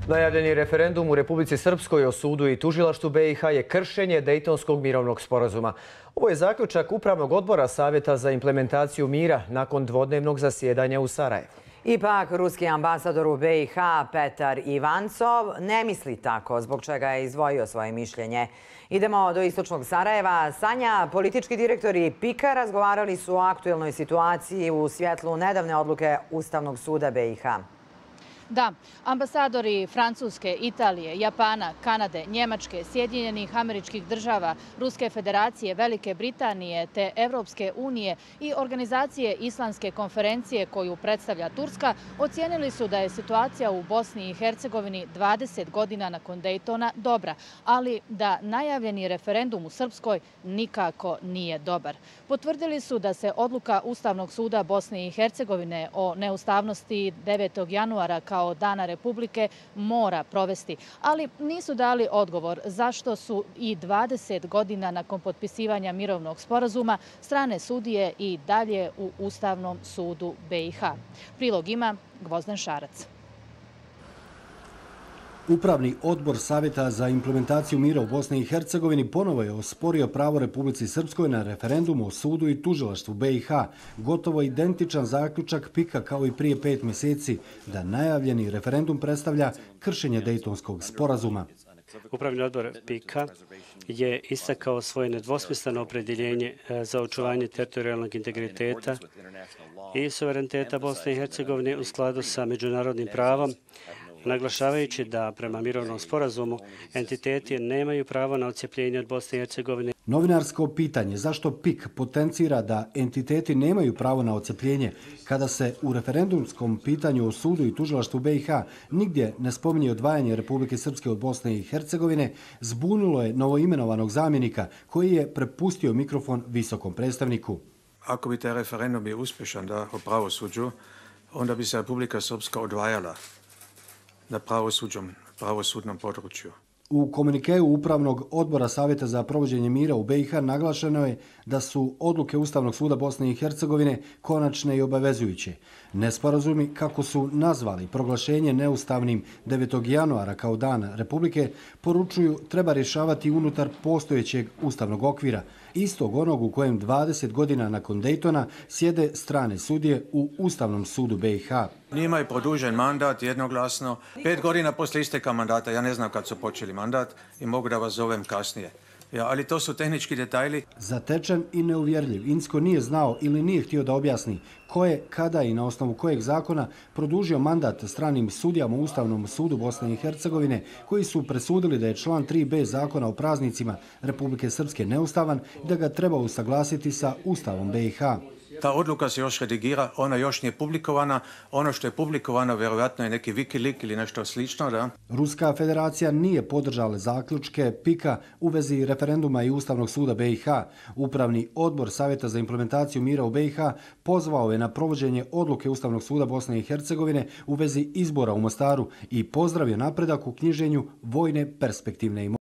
Najavljeni referendum u Republici Srpskoj o sudu i tužilaštvu BiH je kršenje Dejtonskog mirovnog sporazuma. Ovo je zaključak Upravnog odbora Savjeta za implementaciju mira nakon dvodnevnog zasjedanja u Sarajevu. Ipak, ruski ambasador u BiH Petar Ivancov ne misli tako, zbog čega je izdvojio svoje mišljenje. Idemo do istočnog Sarajeva. Sanja, politički direktori PIK-a razgovarali su o aktuelnoj situaciji u svjetlu nedavne odluke Ustavnog suda BiH. Da, ambasadori Francuske, Italije, Japana, Kanade, Njemačke, Sjedinjenih Američkih Država, Ruske Federacije, Velike Britanije te Evropske unije i organizacije Islamske konferencije koju predstavlja Turska ocijenili su da je situacija u Bosni i Hercegovini 20 godina nakon Dejtona dobra, ali da najavljeni referendum u Srpskoj nikako nije dobar. Potvrdili su da se odluka Ustavnog suda Bosne i Hercegovine o neustavnosti 9. januara kao Dana Republike mora provesti, ali nisu dali odgovor zašto su i 20 godina nakon potpisivanja mirovnog sporazuma strane sudije i dalje u Ustavnom sudu BiH. Prilog ima Gvozden Šarac. Upravni odbor Savjeta za implementaciju mira u Bosni i Hercegovini ponovo je osporio pravo Republici Srpskoj na referendum o sudu i tužilaštvu BiH, gotovo identičan zaključak PIK-a kao i prije 5 mjeseci, da najavljeni referendum predstavlja kršenje Dejtonskog sporazuma. Upravni odbor PIK-a je istakao svoje nedvosmisleno opredjeljenje za očuvanje teritorijalnog integriteta i suvereniteta Bosne i Hercegovine u skladu sa međunarodnim pravom, naglašavajući da prema mirovnom sporazumu entiteti nemaju pravo na odcjepljenje od Bosne i Hercegovine. Novinarsko pitanje zašto PIK potencira da entiteti nemaju pravo na odcjepljenje kada se u referendumskom pitanju o sudu i tužilaštvu BiH nigdje ne spominje odvajanje Republike Srpske od Bosne i Hercegovine, zbunilo je novoimenovanog zamjenika koji je prepustio mikrofon visokom predstavniku. Ako bi taj referendum bio uspješan o pravosuđu, onda bi se Republika Srpska odvajala na pravosudnom području. U komunikeu Upravnog odbora Savjeta za provođenje mira u BiH naglašeno je da su odluke Ustavnog suda Bosne i Hercegovine konačne i obavezujuće. Nesporazumi, kako su nazvali proglašenje neustavnim 9. januara kao Dan Republike, poručuju treba rješavati unutar postojećeg ustavnog okvira, istog onog u kojem 20 godina nakon Dejtona sjede strane sudije u Ustavnom sudu BiH. Njima je produžen mandat jednoglasno. 5 godina poslije isteka mandata, ja ne znam kad su počeli mandat i mogu da vas zovem kasnije. Ali to su tehnički detajli. Zatečen i neuvjerljiv, Incko nije znao ili nije htio da objasni ko je, kada i na osnovu kojeg zakona produžio mandat stranim sudijama u Ustavnom sudu Bosne i Hercegovine koji su presudili da je član 3b zakona o praznicima Republike Srpske neustavan i da ga treba usaglasiti sa Ustavom BiH. Ta odluka se još redigira, ona još nije publikovana. Ono što je publikovano vjerojatno je neki Wikileaks ili nešto slično. Da? Ruska federacija nije podržala zaključke PIK-a u vezi referenduma i Ustavnog suda BiH. Upravni odbor Savjeta za implementaciju mira u BiH pozvao je na provođenje odluke Ustavnog suda Bosne i Hercegovine u vezi izbora u Mostaru i pozdravio napredak u knjiženju vojne perspektivne imovine.